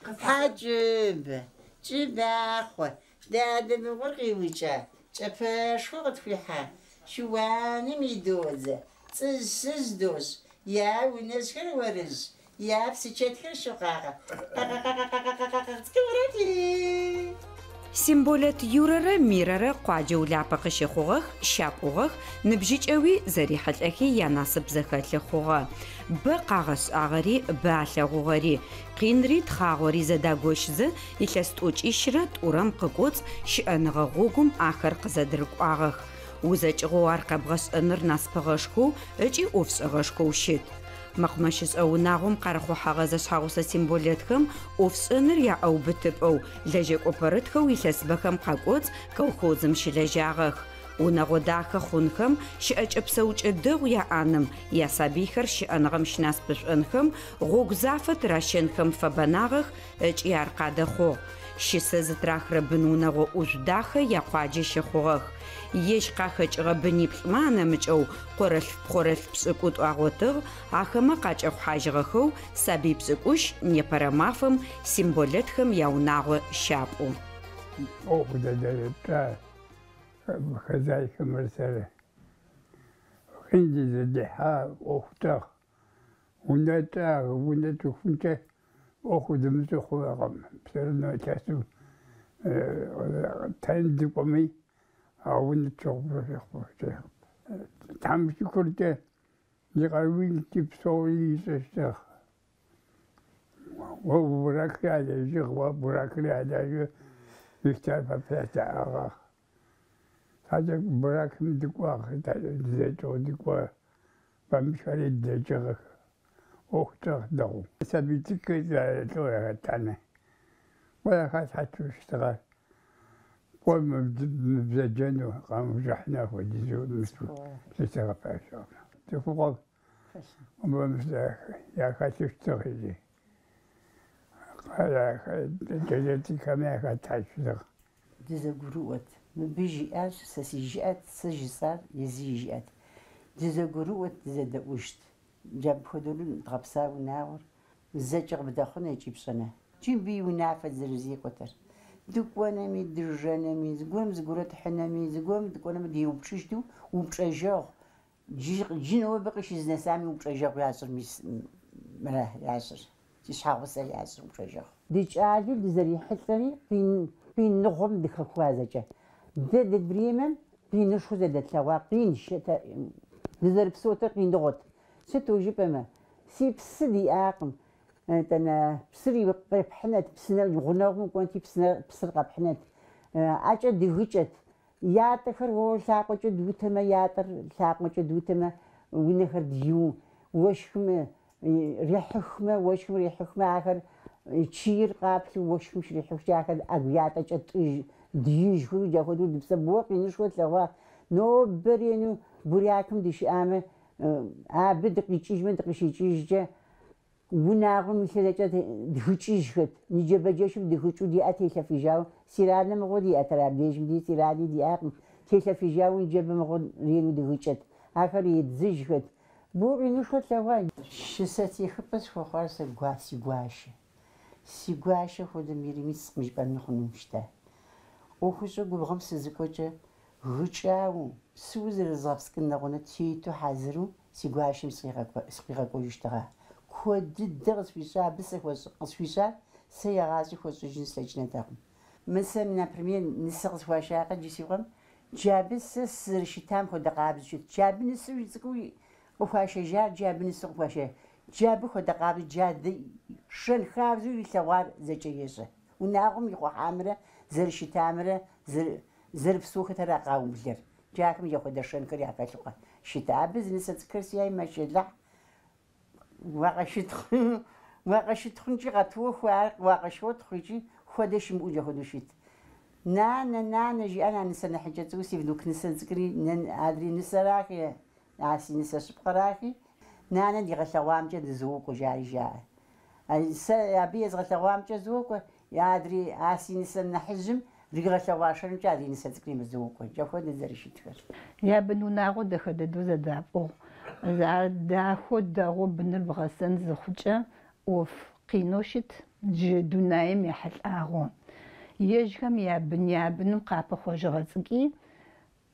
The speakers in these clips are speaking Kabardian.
Хьэкӏыб, кӏыбахъуэ, дадэ мыгъуэр къиукӏа, кӏапэшхуэ къытхуихьа, шыуаным идодзэ, цӏыжь-сыжь дощӏ, я унэжьхэр уэрыжь, я псычэтхэр щокъакъэ, къакъэ-къакъэ-къакъэ-къакъэ, цӏыкӏурэти. Симболэт Юрэрэ Мирэрэ къуаджэу Улапэ къыщыхъугъэх, щапӏугъэх, ныбжьыкӏэуи зэрихьылӏэхи янасып зэхэлъы хъугъэ. Бэ къагъэшӏагъэри, бэ алъэгъугъэри. Къинри тхъагъори зэдагощзэ, илъэс тӏокӏищрэ тӏурэм къыкӏоцӏ щыӏэныгъэ гъогум ахэр къызэдырыкӏуагъэх. Узэкӏыгъэу ар къэбгъэшӏэныр насыпыгъэшхоу ыкӏи ӏофшӏэгъэшхоу щыт. Мэкъумэщышӏэ унагъом къарыхъухьэгъэ зэшъхьэгъусэ Симболэтхэм ӏофшӏэныр яӏэубытыпӏэу, лэжьэкӏо пэрытхэу илъэсыбэхэм къакӏоцӏ колхозым щылэжьагъэх. Унэгъо дахэ хъунхэм, щыӏэкӏэ-псэукӏэ дэгъу яӏэным, ясабыйхэр щыӏэныгъэм щынасыпышӏонхэм, гъогу зафэ тыращэнхэм фэбэнагъэх ыкӏи ар къадэхъугъ. Щысэ зытырахырэ бын-унэгъо ӏужъу дахэ якъуаджэ щыхъугъэх. Ежь къахэкӏыгъэ быниплӏмэ анэмыкӏэу къорэлъф-пхъорэлъф пшӏыкӏутӏу агъотыгъ, ахэмэ къакӏэхъухьажьыгъэхэу сабый пшӏыкӏущ непэрэ мафэм Симболэтхэм яунагъо щапӏу. ӏуэху зэдэзытщӏа хозяйкэмрэ сэрэ. Къин дызэдихьа ӏуэху тӏыгъ. Унэ тӏыгъ, унэ тӏыхункӏэ ӏуэху дымыщӏу хъуакъым. Все равно илъэсу тэн дыкӏуэми, а унэ тщыгъупщэу. Тхьэм шыкуркӏэ и къаруилкӏи псори ищӏэщтыгъ. Уэ буракри ялэжьыгъ, уэ буракри ялэжьу гектар пэплъэтэӏыгъэх. Щхьэкӏэ буракым дыкӏуагъ, дызэкӏыгъу дыкӏуа, бамышхэри дэкӏыгъэх. ӏуэху тӏыгъ дэгъу. Сабий цӏыкӏухэр лӏо яхэтанэ. Уэ яхалъхьэту щытыгъэ. Кӏуэ мыбзэджэну, къамыужыхьыну апхуэдизу зытегъэпащэкъым. Цӏыхугъэ яхэлъу щытыгъ иджы. Кӏэлэ цӏыкӏухэми яхэтащ щытыгъ. Дызэгурыӏуэт. Мыбы жиӏащ, сэ си жыӏэт, сэ жысӏар езы и жыӏэт. Дызэгурыӏуэт, дызэдэӏужт. Иджы апхуэдэу дгъэпса унагъуэр зэкӏэ къыбдэхъунэ икӏи пщӏэнэ. Икӏи мыбы и унафэт зэрызекӏуэтэр. Дыкӏуэнэми, дыжэнэми, зыгуэрым зыгуэрэ тхьынэми, зыгуэрым дыкӏуэнэми деупщӏыжту упщӏэжэгъу. Джы нобэ къыщызнэсами упщӏэжэгъу ящӏыр мис мыра ящӏыр. Си щхьэгъусэр ящӏыр упщӏэжэгъу. Дыкӏалэу дызэрихьэлӏэри къиныгъуэм дыхэхуа зэкӏэ. Дэ ди времэм къинышхуэ зэдэтлъэгъуа къин дызэрыпсэутэр къиныгъуэт. Сыту жыпӏэмэ, си псы диӏакъым. Итӏанэ псыр къепхьынэт, псынэ гъунэгъум кӏуэнти псыр къэпхьынэт. ӏэкӏэ дыгыкӏэт. Ятӏэхэр уэ лъакъуэкӏэ дутэмэ, ятӏэр лъакъуэкӏэ дутэмэ, унэхэр дию, уэшхым рехьыхмэ, уэшхым рехьыхмэ, ахэр чийр къаплъу уэшхым щрихьыхкӏэ ахэр ӏэгу ятӏэкӏэ тӏыж, дыижхэу апхуэдэу дыпсэу боуэ къинышхуэ тлъэгъуа. Нобэ рену бурякым дыщыӏамэ, абы дыкъикӏыжмэ, дыкъыщикӏыжкӏэ, унагъуэм илъыр зэкӏэ дгыкӏыжхэт. Ныджэбэджэшым дыгыкӏыу ди ӏэ телъэфыжауэ, стиральнэ мыгъуэ диӏэтэр абдежым ди стиральни диӏакъым, телъэфыжауэ ныджэбэ мыгъуэ рену дыгыкӏэт. Ахэр еддзыжхэт. Боуэ къинышхуэ тлъэгъуа. Щысэтехыпӏэ схуэхъуар сэ си гуащэ. Си гуащэ хуэдэ мирэм искъым жыпӏэми хъуну щыта. ӏуэхущӏэ губгъуэм сызыкӏуэкӏэ гыкӏауэ, псыуэ зэрызгъэпскӏын нэгъунэ тету хьэзыру си гуащэм сыкъигъэкӏуэжыщтыгъа. Куэд дыдэ къысхуищӏа, абы сэ къысхуищӏар сэ егъащӏи хуэщӏыжын слъэкӏынэтэкъым. Мы сэ, например, нысэ къысхуашакъэ джы си къуэм, джы абы сэ сызэрыщытам хуэдэ къабзэу щыт. Джы абы нысэу цӏыкӏуу къыхуашэжар, джы абы нысэу къыхуашэ. Джы абы хуэдэ къабзэу, джы адэ шэн хабзэу илъэгъуар зэкӏэ ещӏэ. Унагъуэм ихъухьамрэ зэрыщытамрэ зэрыпсэухэтэра къаублэр. Джы ахэм яхуэдэ шэнхэр яхэлъу щыта. Абы зы нысэ цӏыкӏухэр сиӏэи, мэшэлыхь, уакъыщытхъункӏи къэтохуэ, ар уакъыщотхъу икӏи хуэдэ щымыӏэу джахуэдэу щыт. Нанэ, нанэ, жиӏэн а нысэ нэхъыкӏэ цӏыкӏу, си внук нысэ цӏыкӏури, адрей нысэрахи, а си нысэ щыпкъэрахи, нанэ дигъэлъэгъуамкӏэ дызокӏуэ, жари жаӏэ. Сэ абы езгъэлъэгъуамкӏэ зокӏуэ, адрей а си нысэ нэхъыжьым ригъэлъэгъуа шэнымкӏэ адрей нысэ цӏыкӏури мызокӏуэ. Джахуэдэ зэрыщытхэр. Я бынунагъуэ дахэ дыдэу зэдапӏыгъу. Ар дахэу дэгъуэу быныр бгъэсэн зыхъукӏэ, ӏоф къинэу щыт джы дунаим ехьылӏагъэу. Ежьхэм ябын ябыным къапыхъожьыгъэ цӏыкӏи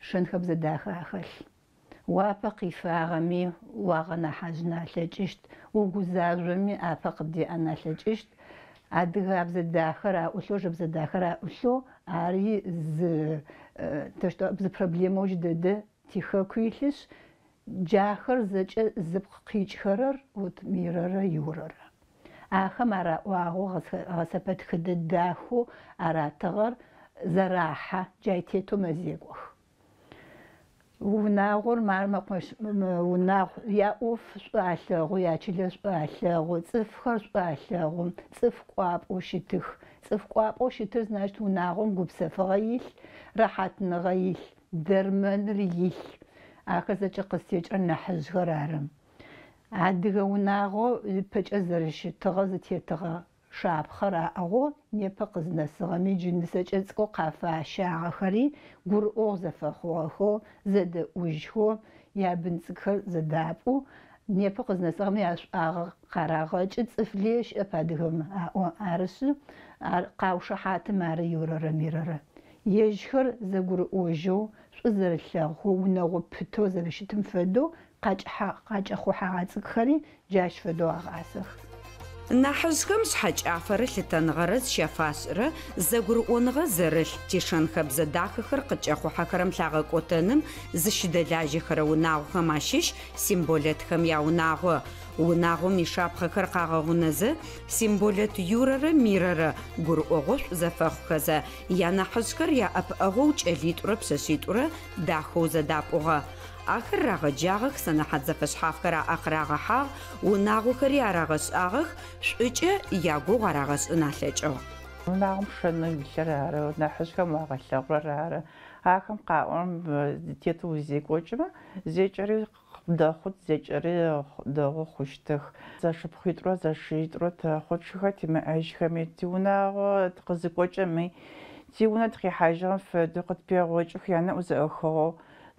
шэн-хэбзэ дахэ ахэлъ. Уапэ къифагъэми уагъэнахьыжъын алъэкӏыщт, угузажъоми апэ къыбдеӏэн алъэкӏыщт. Адыгабзэ дахэр аӏулъэу, жэбзэ дахэр аӏулъэу, ари зы зы проблемэу джы дэдэ тихэку илъышъ, джахэр зэкӏэ зыпкъ къикӏхэрэр вот Мирэрэ Юрэрэ. Ахэм араӏуагъэу гъэсэпэтхыдэ дахэу аратыгъэр зэрахьэ, джай тетэу мэзекӏох. Унагъор мар мэкъумэщ унагъу, яӏоф шӏу алъэгъу, ячылэ шӏу алъэгъу, цӏыфхэр шӏу алъэгъу, цӏыф кӏуапӏэу щытых. Цӏыф кӏуапӏэу щытыр значит унагъом гупсэфыгъэ илъ, рэхьатныгъэ илъ, дэрмэныр илъ. Ахэр зэкӏэ къызтекӏырэр нахьыжъхэр ары. Адыгэ унагъо ыпэкӏэ зэрэщытыгъэ зытетыгъэ шапхъэр аӏыгъэу непэ къызнэсыгъэми джы нысэкӏэ цӏыкӏоу къафащагъэхэри гурыӏогъу зэфэхъугъэхэу, зэдэӏужьхэу, ябын цӏыкӏхэр зэдапӏу, непэ къызнэсыгъэми яшӏуагъэ къарагъэкӏы, цӏыф лые щыӏэп адыгэм аӏо. Арышъы, ар къаушыхьатым ары Юрэрэ Мирэрэ. Ежьхэр зэгурыӏожьэу, шӏу зэрэлъэгъухэу, унэгъо пытэу зэрэщытым фэдэу къакӏэхъухьэгъэ цӏыкӏхэри джащ фэдэу агъасэх. Нахьыжъхэм шъхьэкӏафэрэ лъытэныгъэрэ зыщафашӏырэ зэгурыӏоныгъэ зэрылъ тишэн-хэбзэ дахэхэр къыткӏэхъухьэхэрэм лъагъэкӏотэным зыщыдэлажьэхэрэ унагъохэм ащыщ Симболэтхэм яунагъо. Унагъом ишапхъэхэр къагъэгъунэзэ, Симболэт Юрэрэ Мирэрэ гурыӏогъошӏу зэфэхъухэзэ, янахьыжъхэр яӏэпыӏэгъоу кӏэлитӏурэ пшъэшъитӏурэ дахэу зэдапӏугъэ. Ахэр рагъэджагъэх, сэнэхьат зэфэшъхьафхэр аӏэ къырагъэхьагъ, унагъохэри арагъэшӏагъэх, шӏукӏэ ягугъу арагъэшӏын алъэкӏыгъ. Унагъом шэнэу илъыр ары, нахьыжъхэм уагъэлъэгъурэр ары. Ахэм къаӏорэм тетэу узекӏокӏымэ, зэкӏэри къыбдэхъут, зэкӏэри дэгъу хъущтых. Зэшыпхъуитӏурэ зэшитӏурэ тэхъу, тшыхэр тимыӏэжьхэми, тиунагъо тыкъызыкӏокӏэми, тиунэ тыкъихьажьыгъэм фэдэу къытпегъокӏых, янэӏу зэӏыхыгъэу.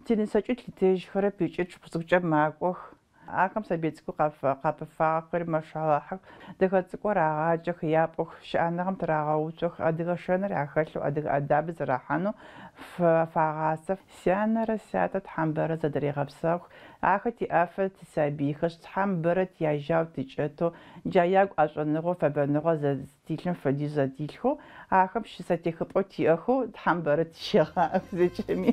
Тинысэкӏи тлъытэжьхэрэп ыкӏи тшыпхъу цӏыкӏукӏэ макӏох. Ахэм сабый цӏыкӏу къапыфагъэхэри мэшалахьых, дэхэ цӏыкӏоу рагъаджэх, япӏух, щыӏэныгъэм тырагъэуцох, адыгэ шэныр ахэлъэу, адыгэ ӏэдабыр зэрахьанэу фагъасэх. Сянэрэ сятэ Тхьэм бэрэ зэдырегъэпсэух, ахэр тиӏэфэ тисабыйхэшъ, Тхьэм бэрэ тияжьау тыкӏэтэу, джа ягу ӏэшӏуныгъэу, фэбэныгъэу зэдилъым фэдиз зэдилъхэу, ахэм щысэтехыпӏэу тиӏэхэу Тхьэм бэрэ тыщегъаӏэх зэкӏэми.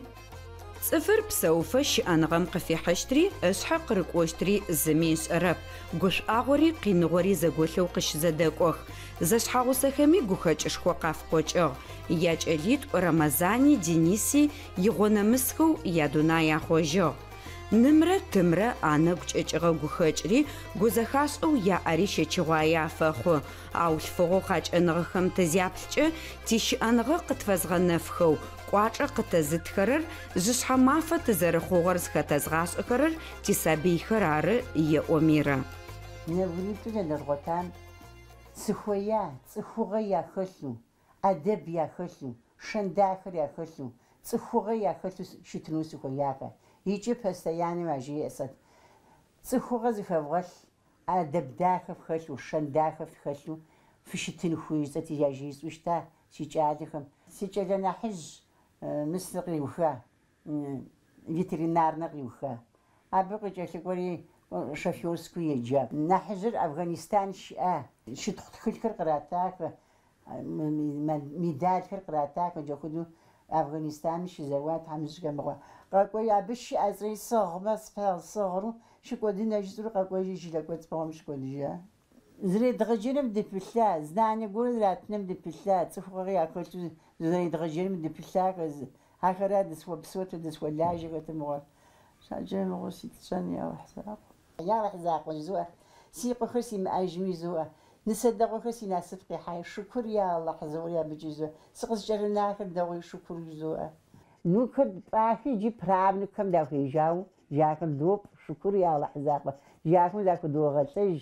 Цӏыфыр псэуфэ щыӏэныгъэм къыфихьыщтри, ышъхьэ къырыкӏощтри зыми ышӏэрэп. Гушӏуагъори къиныгъори зэголъэу къыщызэдэкӏох. Зэшъхьэгъусэхэми гухэкӏышхо къафыкъокӏыгъ. Якӏэлитӏу Рэмэзани Дениси игъонэмысхэу ядунай ахъожьыгъ. Нымрэ тымрэ анэгу кӏэкӏыгъэ гухэкӏри, гузэхашӏэу яӏэри щэчыгъуае афэхъу. Ау лъфыгъэу къакӏэныгъэхэм тызяплъкӏэ, тищыӏэныгъэ къытфэзгъэнэфхэу, кӏуачӏэ къытэзытхэрэр, жъышъхьэ мафэ тызэрыхъугъэр зыхэтэзгъашӏэхэрэр тисабыйхэр ары, еӏо Мирэ. Нэбгыритӏу зэдэзгъотам сыхуея, цӏыхугъэ яхэлъу, ӏэдэб яхэлъу, шэн дахэр яхэлъу, цӏыхугъэ яхэлъу щытыну сыхуеяхэ. Икӏи постоянно яжесӏэт. Цӏыхугъэ зыхэвгъэлъ, ӏэдэб дахэ фхэлъу, шэн дахэ фхэлъу фыщытын хуей жысӏэти яжесӏэу щыта си кӏалэхэм. Си кӏэлэ нэхъыжь Мысыр къиуха, ветеринарнэ къиуха. Абы къыкӏэлъыкӏуэри шоферскэу еджа. Нэхъыжьыр Афганистан щыӏа, щытхъу тхылъхэр къратахэ, медалхэр къратахэ, джахуэдэу Афганистаным щызэуа тхьэмыщкӏэ мыгъуэ. Къэкӏуэри абы щыӏэ цӏри сыгъмэ, сыгъру, щыкӏуэдын жысӏэурэ къэкӏуэжри жылэ кӏуэцӏ мыгъуэм щыкӏуэдыжа. Зэредгъэджэным дыпылъа, знание гуэр зэратыным дыпылъа, цӏыхугъэ яхэлъу зэредгъэджэным дыпылъахэ, ахэра дысхуэпсэуэт, дысхуэлажьэхэт мыгъуэ. Щхьэкӏэ мыгъуэ сыт тщӏэн, я Алыхь закъуэ. Я Алыхь закъуэ жызоӏэ, си къуэхэр симыӏэжми жызоӏэ, нысэ дэгъуэхэр си насып къихьай, шыкур я Алыхь жызоӏэри абыкӏи жызоӏэ, сыкъызыкӏэрынахэр дэгъуи шыкур жызоӏэ. Внукхэр тпӏахи иджы правнукхэм дахуежьауэ, ахэр допӏ, шыкур я Алыхь закъуэ, ахэм захудогъэлӏэж,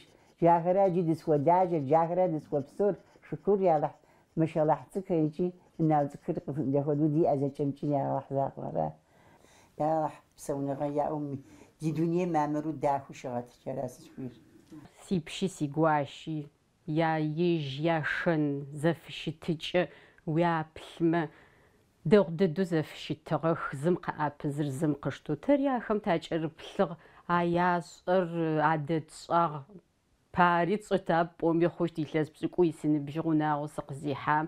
ахэра иджы дысхуэлажьэр, ахэра дысхуэпсэур, шыкур я Алыхь, машаллахь цӏыкӏухэр икӏи унагъуэ цӏыкӏухэр дахуэдэу диӏэ зэкӏэмкӏи я Алыхь закъуэ ара. Я Алыхь, псэуныгъэ яӏэу ди дунейм мамыру дахэу щыгъэт, ара сызыхуейр. Сипщи сигуащи я ежь яшэн зэфыщытыкӏэ уяплъмэ, дэгъу дэдэу зэфыщытыгъэх, зым къыӏэпызыр зым къыштэу. Тэри ахэм такӏэрыплъыгъ, а яшӏэр адэтшӏагъ. Пари тшӏэта пӏоми хъущт илъэс пшӏыкӏуй сыныбжьыгъ унагъо сыкъызихьам.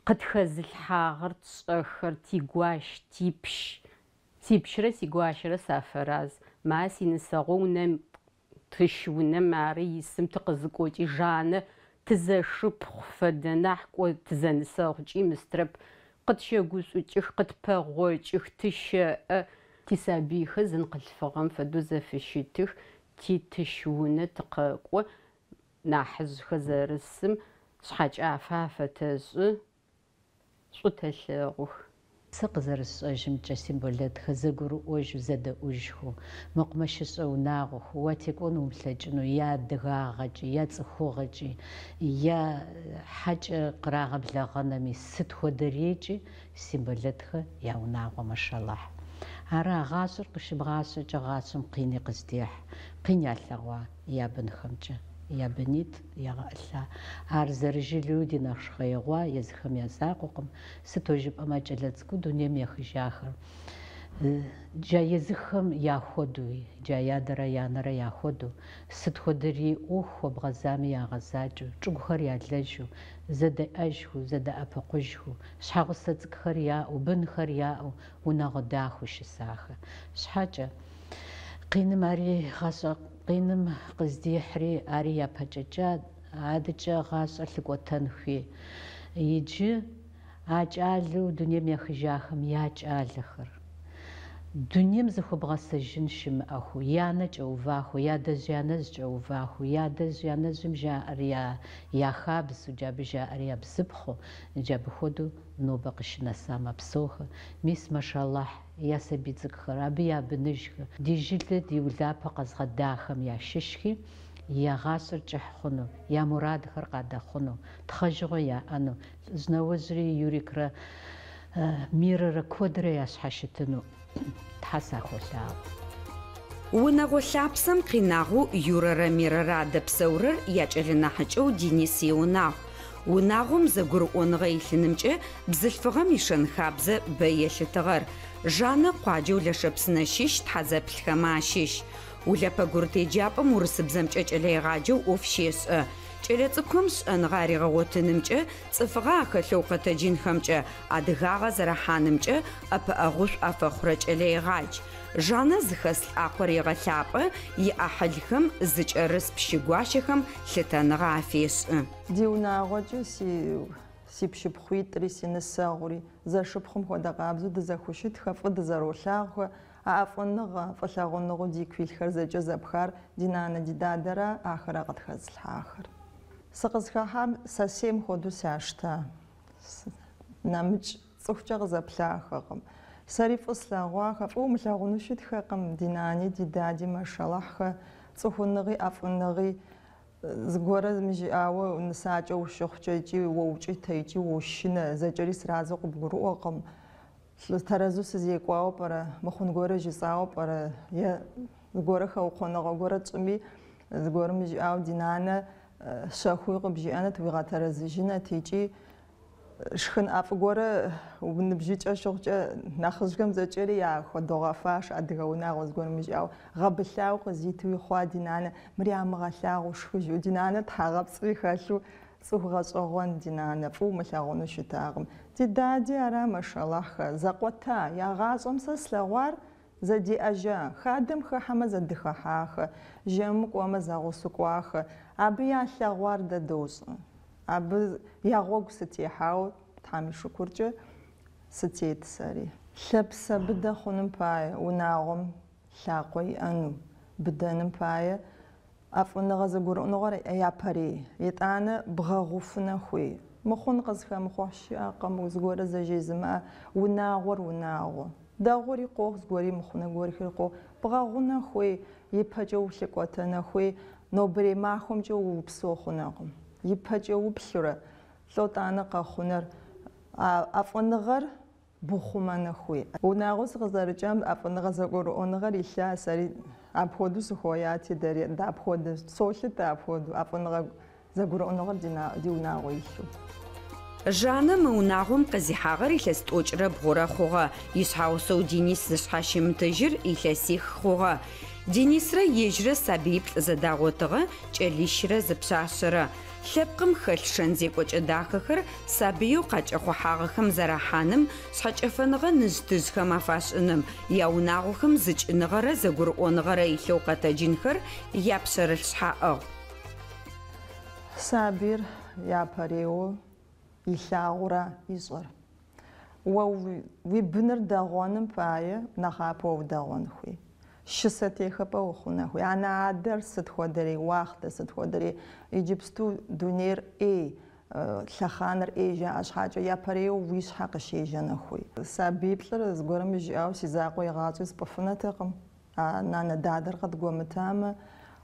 Къытхэзылъхьагъэр тшӏэхэр, тигуащ, типщ. Сипщрэ сигуащэрэ сафэраз. Ма синысэгъоу унэм тыщ унэм ары исым тыкъызыкӏокӏи Жаннэ тызэшыпхъу фэдэ нахь кӏо тызэнысэгъукӏи мыстрэп. Къытщэгушӏукӏых, къытпэгъокӏых, тыщэӏэ. Тисабыйхэр зын къылъфыгъэм фэдэу зэфыщытых, титыщ унэ тыкъэкӏо, нахьыжъхэр зэрысым шъхьэкӏафэ афэтэшӏы, шӏу тэлъэгъух. Сэ къызэрысшӏэжьымкӏэ, Симболэтхэр зэгурыӏожьу, зэдэӏужьхэу, мэкъумэщышӏэ унагъуэхэу, уатекӏуэн умылъэкӏыну, я адыгагъэкӏи, я цӏыхугъэкӏи, я хьэкӏэ кърагъэблэгъэнэми, сыт хуэдэрейкӏи Симболэтхэ я унагъуэ машаллахь. Ара гъащӏэр къыщыбгъащӏэкӏэ гъащӏэм къини къыздехь, къин ялъэгъуа я бынхэмкӏэ, я бынитӏ ягъэӏылъа. Ар зэрыжылэуи ди нэщхъеигъуа езыхэм я закъуэкъым, сыту жыпӏэмэ кӏэлэ цӏыкӏуу дунейм ехыжахэр. Джа езыхэм яхуэдуи, джа ядэрэ янэрэ яхуэдэу, сыт хуэдэрей ӏуэху хуэбгъэзами ягъэзакӏэу, чӏыгухэр ялэжьу, зэдэӏэжьхэу, зэдэӏэпыкъужьхэу, щхьэгъусэ цӏыкӏухэр яӏэу, бынхэр яӏэу, унагъуэ дахэу щысахэ. Щхьэкӏэ, къиным ари гъащӏэ къиным къыздихьри, ари япэкӏэкӏа, адэкӏэ гъащӏэр лъыкӏуэтэн хуей. Иджы а кӏалэу дунейм ехыжахэм я кӏалэхэр. Дунейм зыхуэбгъэсэжын щымыӏэху, я нэ кӏэуваху, я адэжь янэжь кӏэуваху, я адэжь янэжьым жаӏэр я я хабзэу, джабы жаӏэр я бзыпхъэу, джабы хуэдэу нобэ къыщынэса мэпсэухэ. Мис, машаллахь, я сабий цӏыкӏхэр, абы я быныжхэр, ди жылэ, ди Улапэ къэзгъэдахэм ящыщхи, я гъащӏэр кӏыхь хъуну, я мурадхэр къадэхъуну, тхъэжыгъуэ яӏэну, лӏыжь нэужьри Юрикрэ Мирэрэ куэдрэ ящхьэщытыну Тхьэ сахуолъаӏуэ. Унэгъо лъапсэм къинагъэу Юрэрэ Мирэрэ адэпсэурэр якӏэлэ нахьыкӏэу Денис иунагъу. Унагъом зэгурыӏоныгъэ илъынымкӏэ бзылъфыгъэм ишэн-хабзэ бэ елъытыгъэр. Жаннэ къуаджэу Лэшэпсынэ щыщ тхьэзэплъхэмэ ащыщ. Улэпэ гурыт еджапӏэм урысыбзэмкӏэ кӏэлэегъаджэу ӏоф щешӏэ. Кӏэлэцӏыкӏухэм шӏэныгъэ аригъэгъотынымкӏэ, цӏыфыгъэ ахэлъэу къэтэджынхэмкӏэ, адыгагъэ зэрахьанымкӏэ ӏэпыӏэгъушӏу афэхъурэ кӏэлэегъадж. Жаннэ зыхэс лӏакъор егъэлъапӏэ, иӏахьылхэм зыкӏэрыс пщы гуащэхэм лъытэныгъэ афешӏы. Ди унагъуэкӏи си си пщыпхъуитӏри, си нысэгъури, зэшыпхъум хуэдэ къабзэу дызэхущытхэ, фӏы дызэролъагъухэ, а ӏэфӏыныгъэ, фӏылъагъуныгъэу дику илъхэр зэкӏэ зэпхар ди нанэ, ди дадэра, ахэра къытхэзылъхьахэр. Сыкъызыхэхьам сэсейм хуэдэу сящта, нэмыкӏ цӏыхукӏэ къызэплъахэкъым. Сэри фӏы слъэгъуахэ, фӏы умылъагъуну щытхэкъым, ди нани, ди дади, машаллахьхэ, цӏыхуныгъи, ӏэфӏыныгъи, зыгуэрэ мыжиӏауэ нысакӏэ ущыхъукӏэ икӏи уоукӏытэ, икӏи уошынэ, зэкӏэри сразу къыбгурыӏуэкъым. Тэрэзу сызекӏуауэ пӏэрэ, мыхъун гуэрэ жысӏауэ пӏэрэ, е зыгуэрэ хэукъуэныгъэ гуэрэ тщӏыми, зыгуэрым мыжиӏауэ ди нанэ щэхууи къыбжиӏэнэт, уигъэтэрэзыжынэт икӏи шхын ӏэфӏ гуэрэ ныбжьыкӏэ щыхъукӏэ нэхъыжьхэм зэкӏэри яхуэдогъэфащэ адыгэ унагъуэ зыгуэрым мыжиӏауэ гъэбылъауэ къызитуи хъуа ди нанэ, мыр ямыгъэлъагъуу шхы жиӏэу, ди нанэ тхьэгъэпцӏри хэлъу цӏыху гъэщӏэгъуэн ди нанэ, фӏы умылъагъуну щытакъым. Ди дади ара, машаллахьхэ, зэкъуэта, я гъащӏэм сэ слъэгъуар зэдеӏэжа, хадэм хыхьэмэ зэдыхыхьахэ, жэмым кӏуэмэ зэгъусэу кӏуахэ, абы ялъэгъуар дэ дощӏэ. Абы я гъуэгу сытехьауэ, Тхьэм и шыкуркӏэ, сытет сэри. Лъапсэ быдэ хъуным пае, унагъуэм лъакъуэ иӏэну, быдэным пае, ӏэфӏыныгъэ зэгурыӏуныгъэр япэрей, итӏанэ бгъэгъуфынэ хуей. Мыхъун къызыхэмыхъухь щыӏэкъым, зыгуэрэ зэжезымыӏэ, унагъуэр унагъуэ. Дэгъуэри къохъу, зыгуэри мыхъунэ гуэрхэри къохъу. Бгъэгъунэ хуей, ипэкӏэ улъыкӏуэтэнэ хуей, нобэрей махуэмкӏэ упсэу хъунэкъым. Ипэкӏэ уплъурэ, лӏо тӏанэ къэхъунэр, а ӏэфӏыныгъэр бухъумэнэ хуей. Унагъуэ сыкъызэрыкӏам ӏэфӏыныгъэ зэгурыӏуэныгъэр илъа, сэри Апхуэдэу сыхуеяти, дэри дапхуэдэу, солъытэ апхуэдэу, ӏэфӏыныгъэ зэгурыӏуэныгъэр ди унагъуэ илъу. Жаннэ мы унагъом къызихьагъэр илъэс 33 хъугъэ. Ишъхьэгъусэу Денис зышъхьащымытыжьыр илъэсих хъугъэ. Денисрэ ежьрэ сабыиплӏ зэдагъотыгъэ, кӏэлищрэ зы пшъашъэрэ. Лъэпкъым хэлъ шэн зекӏокӏэ дахэхэр сабыеу къакӏэхъухьагъэхэм зэрахьаным, шъхьэкӏэфэныгъэ ныжъ-тыжъхэм афашӏыным, яунагъохэм зыкӏыныгъэрэ зэгурыӏоныгъэрэ илъэу къэтэджынхэр япшъэрылъ шъхьаӏыгъ. Сабийр япэрейуэ илъагъурэ ищӏэр. Уэ уи быныр дэгъуэным пае нэхъапэ уэ удэгъуэн хуей. Щысэ техэпӏэ ухъунэ хуей. Анэ-адэр сыт хуэдэрей уахътэ, сыт хуэдэрей иджыпсту дунейр ӏей, лъэхъанэр ӏей жаӏэ щхьэкӏэ япэрейуэ уи щхьэ къыщежьэнэ хуей. Сабиплӏыр зыгуэрым жиӏауэ си закъуэ игъащӏи спӏыфынэтэкъым. А нанэ дадэр къыдгуэмытамэ,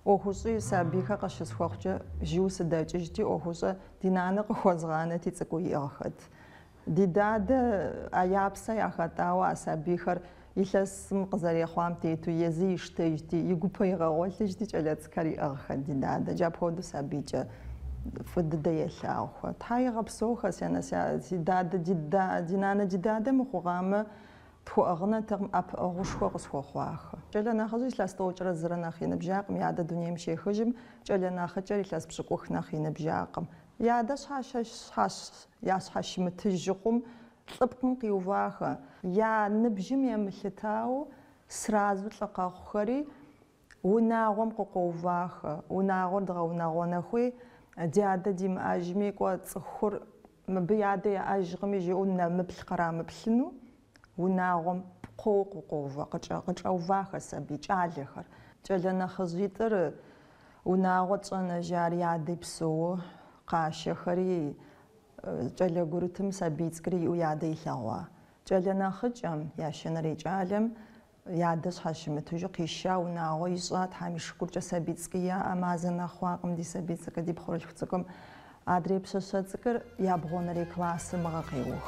ӏуэхущӏи сабийхэр къыщысхуэхъукӏэ жьыуэ сыдэкӏыжти, ӏуэхущӏэ ди нанэ къыхуэзгъанэти цӏыкӏуу иӏыгъхэт. Ди дадэ а я псэ яхэтӏауэ а сабийхэр илъэсым къызэрехъуам тету езы иштэжти, и гупэ игъэгъуэлъыжти кӏэлэцӏыкӏхэр иӏыгъхэт ди дадэ. Джы апхуэдэу сабийкӏэ фӏы дыдэ елъагъухэ. Тхьэ игъэпсэухэ, си анэ, си дадэ, ди нанэ, ди дадэ мыхъугъамэ, тхуэӏыгъынэтэкъым, ӏэпыӏэгъушхуэ къысхуэхъуахэ. Кӏэлэ нэхъыжьыр илъэс 31 нэхъ и ныбжьакъым, и адэ дунейм щехыжым, кӏэлэ нэхъыкӏэр илъэс 20 нэхъ и ныбжьакъым. И адэ ящхьэщымытыж хъум лӏыпкъым къиувахэ. Я ныбжьым емылъытауэ сразу лӏы къэхъухэри унагъуэм къыкъуэувахэ. Унагъуэр дгъэунагъуэнэ хуей, ди адэ димыӏэжми, кӏуэ цӏыхур мыбы и адэ яӏэжкъыми жиӏэу нэмыплъ кърамыплъыну унагъуэм пкъоу къыкъуэувэ, къычӏэувахэ сабий кӏалэхэр. Кӏэлэ нэхъыжьитӏыр унагъуэ тщӏэнэжар и адэ псэууэ къашэхэри, кӏэлэ гурытым сабий цӏыкӏури иӏэу и адэ илъэгъуа. Кӏэлэ нэхъыкӏэм, ящэнэрей кӏалэм, и адэ щхьэщымытыжу къиша унагъуэ ищӏа, Тхьэм и шыкуркӏэ сабий цӏыкӏуи яӏэ, мазэ нэхъ хъуакъым ди сабий цӏыкӏур, ди пхъурылъху цӏыкӏум. Адрей пщащэ цӏыкӏур ябгъуэнэрей классыр мыгъэ къеух.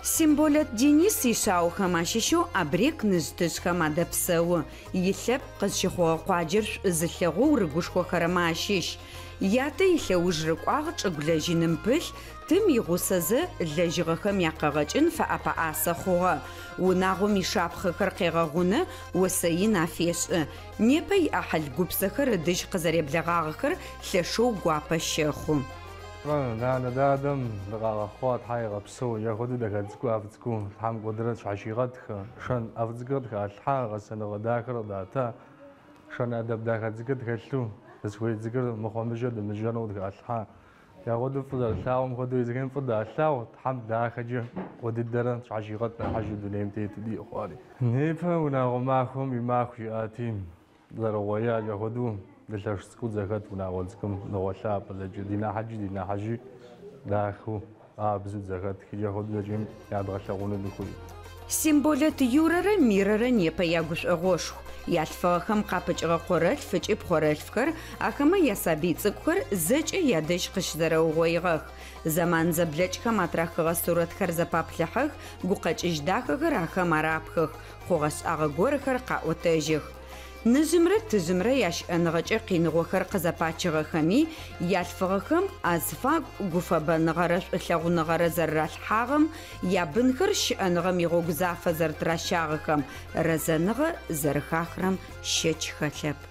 Симболэт Денис ишъаохэм ащыщэу Абрек ныжъ-тыжъхэм адэпсэу. Илъэпкъ къызщыхъугъэ къуаджэр шӏу зылъэгъоу рыгушхохэрэмэ ащыщ. Ятэ илъэуж рыкӏуагъ чӏыгу лэжьыным пылъ, тым игъусэзэ лэжьыгъэхэм якъэгъэкӏын фэӏэпэӏасэ хъугъэ. Унагъом ишапхъэхэр къегъэгъунэ, осэ ин афешӏы. Непэ иӏахьыл гупсэхэр ыдыжь къызэреблэгъагъэхэр лъэшэу гуапэ щэхъу. Нанэ дадэм дыкъагъэхъуа Тхьэ игъэпсэу, яхуэдэу дахэ цӏыкӏу, ӏэфӏ цӏыкӏу, Тхьэм куэдрэ тщхьэщигъэтхэ, шэн ӏэфӏ цӏыкӏухэр тхалъхьа, гъэсэныгъэ дахэр къыдата, шэн ӏэдэб дахэ цӏыкӏухэр тхэлъу, дызыхуей цӏыкӏур мыхъумыщӏэ дымыщӏэну къытхалъхьа. Яхуэдэу фӏы зэрылъагъум хуэдэу езыхэм фӏы далъагъу, Тхьэм дахэкӏэ куэд дыдэрэ тщхьэщигъэт нэхъыжьу дунейм тету диӏэ хъуари. Непэ унагъуэ махуэм и маху жиӏати, зэрыгъуея яхуэдэу дылъэш цӏыкӏуу зэхэт унагъуэ цӏыкӏум дыгъуэлъапӏэ зэкӏэ, ди нэхъыкӏи ди нэхъыжьи дахэу къабзэу зэхэт, яхуэдэу зэкӏэм ядгъэлъэгъуну дыхуей. Симболэт Юрэрэ Мирэрэ непэ ягушӏогъошху. Ялъфыгъэхэм къапыкӏыгъэ къорэлъф ыкӏи пхъорэлъфхэр, ахэмэ ясабый цӏыкӏухэр зэкӏэ ядэжь къыщызэрэугъоигъэх. Зэман зэблэкӏхэм атрахыгъэ сурэтхэр зэпаплъыхьэх, гукъэкӏыжь дахэхэр ахэм арапхых, хъугъэ-шӏагъэ горэхэр къаӏотэжьых. Ныжъымрэ тыжъымрэ ящыӏэныгъэкӏэ къиныгъохэр къызэпачыгъэхэми, ялъфыгъэхэм азыфагу гуфэбэныгъэрэ шӏулъэгъуныгъэрэ зэрыралъхьагъэм, ябынхэр щыӏэныгъэм игъогу зафэ зэрытыращагъэхэм рэзэныгъэ зэрыхахырэм щэч хэлъэп.